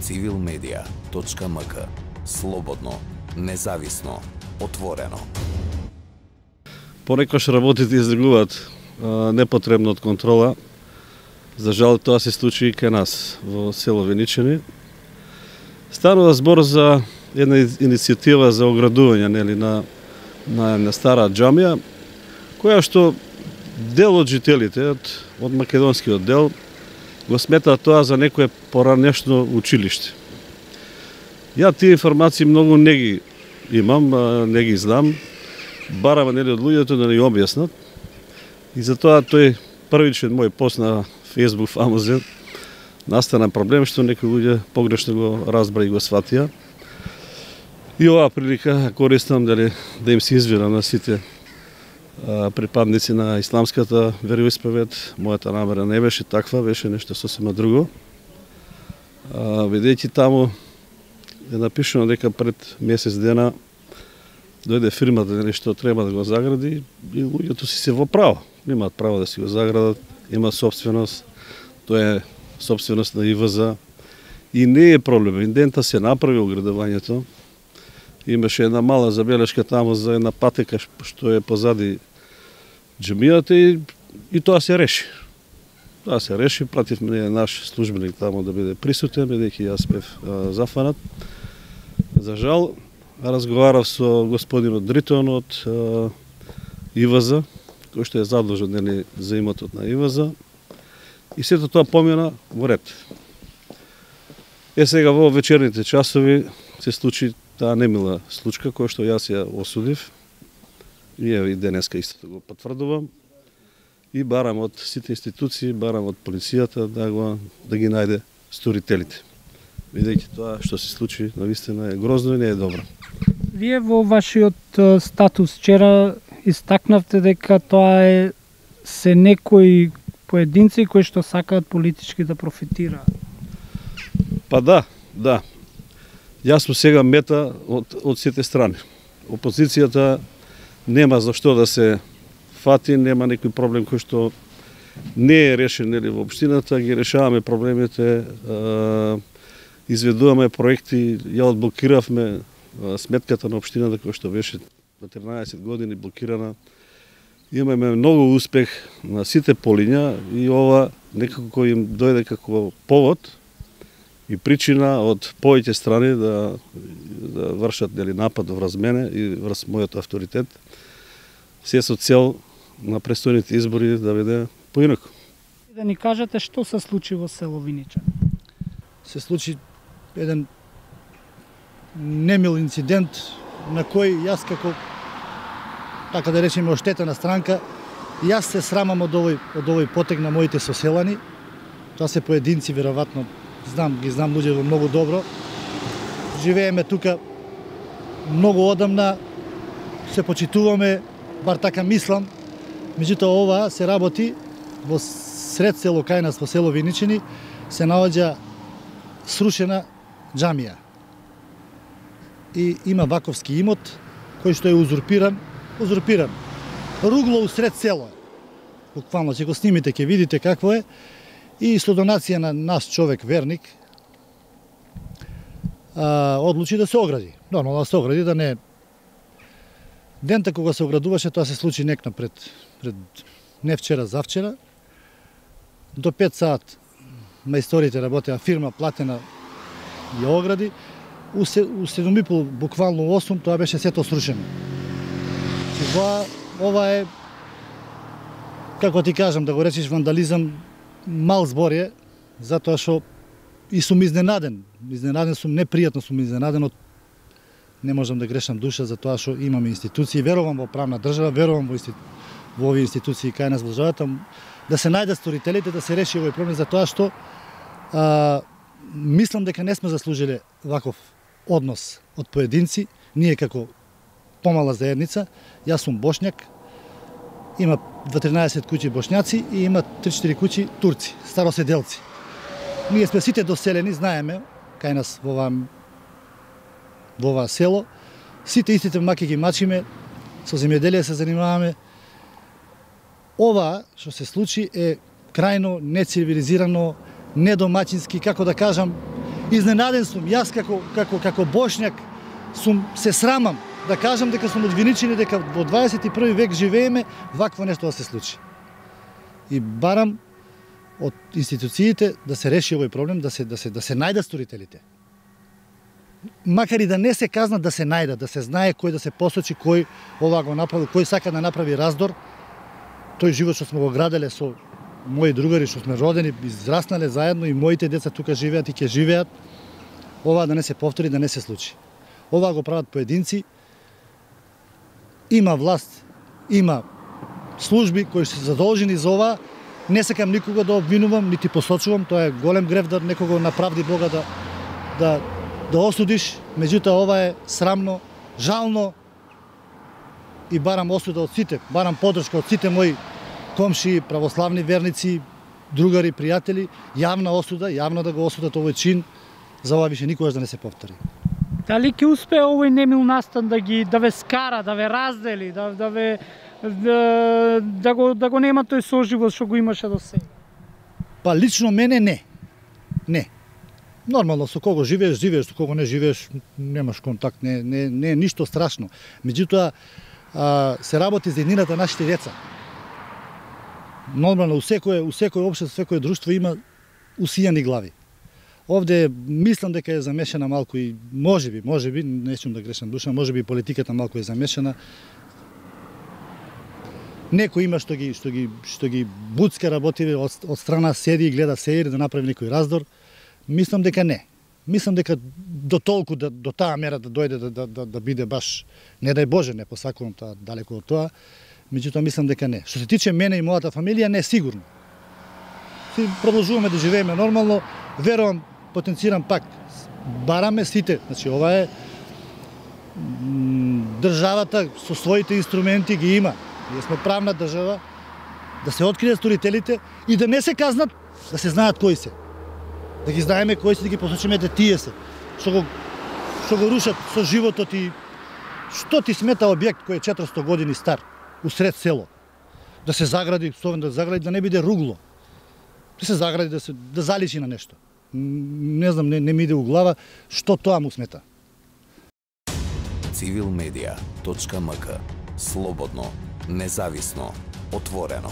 civilmedia.mk. Слободно, независно, отворено. Понекогаш работите излегуваат непотребно од контрола. За жал тоа се случи и кај нас во село Веничани. Станува збор за една иницијатива за оградување на стара џамија, која што дел од жителите од македонскиот дел го сметаат тоа за некое поранешно училиште. Ја тие информации многу не ги имам, не ги знам, барам од луѓето да ни објаснат. И затоа тој првичен мој пост на Facebook фамозен настана проблем што некои луѓе погрешно го разбра и го сватија. И оваа прилика користам да им се извинам на сите припадници на исламската вероисповед. Мојата намера не беше таква, беше нешто сосема друго. Бидејќи таму е напишано дека пред месец дена дојде фирмата што треба да го загради и луѓето си се во право. Имаат право да си го заградат, има собственост, тоа е собственост на ИВЗ и не е проблем. Индента се направи оградувањето. Имаше една мала забелешка таму за една патека што е позади џамијата и тоа се реши. Тоа се реши, пративме наш службеник таму да биде присутен, бидејќи јас бев зафанат. За жал, разговарав со господинот Дритон од ИВЗ, кој што е задлужен за имотот на ИВЗ, и сето тоа помина во ред. Сега во вечерните часови се случи таа немила случка која што јас ја осудив. И денеска истото го потврдувам. И барам од сите институции, барам од полицијата да ги најде сторителите. Видејќи тоа што се случи навистина е грозно и не е добро. Вие во вашиот статус вчера истакнавте дека тоа се некои поединци кои што сакаат политички да профитираат. Па да. Јас сум сега мета од сите страни. Опозицијата нема за што да се фати, нема некој проблем кој што не е решен во општината, ги решаваме проблемите, изведуваме проекти, ја одблокиравме сметката на општината која што беше на 13 години блокирана. Имаме многу успех на сите полиња и ова некако им дојде како повод и причина од повеќе страни да вршат напад врз мене и врз мојот авторитет, се со цел на престојните избори да биде поинаку. Да ни кажете што се случи во село Виничани? Се случи еден немил инцидент на кој јас како, така да речеме, оштетена странка, јас се срамам од овој потег на моите соселани. Тоа се поединци, веројатно, ги знам луѓето многу добро. Живееме тука многу одамна, се почитуваме, бар така мислам. Меѓутоа ова се работи во сред село кај нас, во село Виничани, се наоѓа срушена џамија. И има ваковски имот кој што е узурпиран. Ругло усред село. Буквално ќе го снимите, ќе видите какво е. И со донација на наш човек верник одлучи да се огради. Нормално да се огради, да не. Дента кога се оградуваше, тоа се случи некна пред не вчера, завчера. До 5 сат мајсторите работеа, фирма платена ја огради. У 7:30, буквално 8, тоа беше сето срушено. Ова е, како ти кажам, да го речеш вандализам, мал збор е, затоа што и сум изненаден. Изненаден сум, непријатно сум изненаден не можам да грешам душа за тоа што имаме институции, верувам во правна држава, верувам во овие институции кај нас во државата, да се најдат сторителите, да се реши овој проблем, за тоа што мислам дека не сме заслужиле ваков однос од поединци, ние како помала заедница. Јас сум бошњак, има 13 куќи бошњаци и има 3-4 куќи турци, староседелци. Ние сме сите доселени, знаеме, кај нас во ова село, сите истите маки ги мачиме, со земјоделие се занимаваме. Ова што се случи е крајно нецивилизирано, недомаќински, како да кажам, Изненаден сум, јас како бошњак се срамам да кажам дека сум од Виничани, дека во 21 век живееме вакво нешто да се случи. И барам од институциите да се реши овој проблем, да се најдат сторителите. Макар и да не се казнат, да се најдат, да се знае кој да се посочи, кој ова го направил, кој сака да направи раздор. Тој живот што сме го граделе со мои другари, што сме родени, израснале заедно и моите деца тука живеат и ќе живеат, ова да не се повтори, да не се случи. Ова го прават поединци. Има власт, има служби кои се задолжени за ова. Не сакам никога да обвинувам, нити посочувам, тоа е голем грев да некого направди Бога да осудиш, меѓутоа ова е срамно, жално и барам осуда од сите, барам поддршка од сите мои комши, православни верници, другари, пријатели, јавна осуда, јавно да го осудат овој чин, за ова више никогаш да не се повтори. Дали ќе успее овој немил настан да ве скара, да ве раздели, да го нема тој соживот што го имаше до сега? Па лично мене не. Не. Нормално, со кого живееш, со кого не живееш, немаш контакт, не е ништо страшно. Меѓутоа, се работи за еднината нашите деца. Нормално, у секој општество, секој друштво има усијани глави. Овде мислам дека е замешана малку и можеби, не сум да грешам душа, можеби политиката малку е замешана. Некој има што ги буцка работи од страна, седи и гледа серији да направи некој раздор. Мислам дека не. Мислам дека до толку до таа мера да дојде да биде баш, не дај Боже, не посакувам таа далеко од тоа, меѓутоа мислам дека не. Што се тиче мене и мојата фамилија, не сигурно. Продолжуваме да живееме нормално, верувам, потенцирам пак, бараме сите, значи ова е државата со своите инструменти ги има. Ние сме правна држава, да се откријат сторителите и да не се казнат, да се знаат кои се. Да ги знаеме кои се, да ги посочиме да тие се. Што го рушат со животот и што ти смета објект кој е 400 години стар, усред село. Да се загради, да не биде ругло. Да се загради, да заличи на нешто. Не знам, не ми иде у глава што тоа му смета. Civilmedia.mk. Слободно, независно, отворено.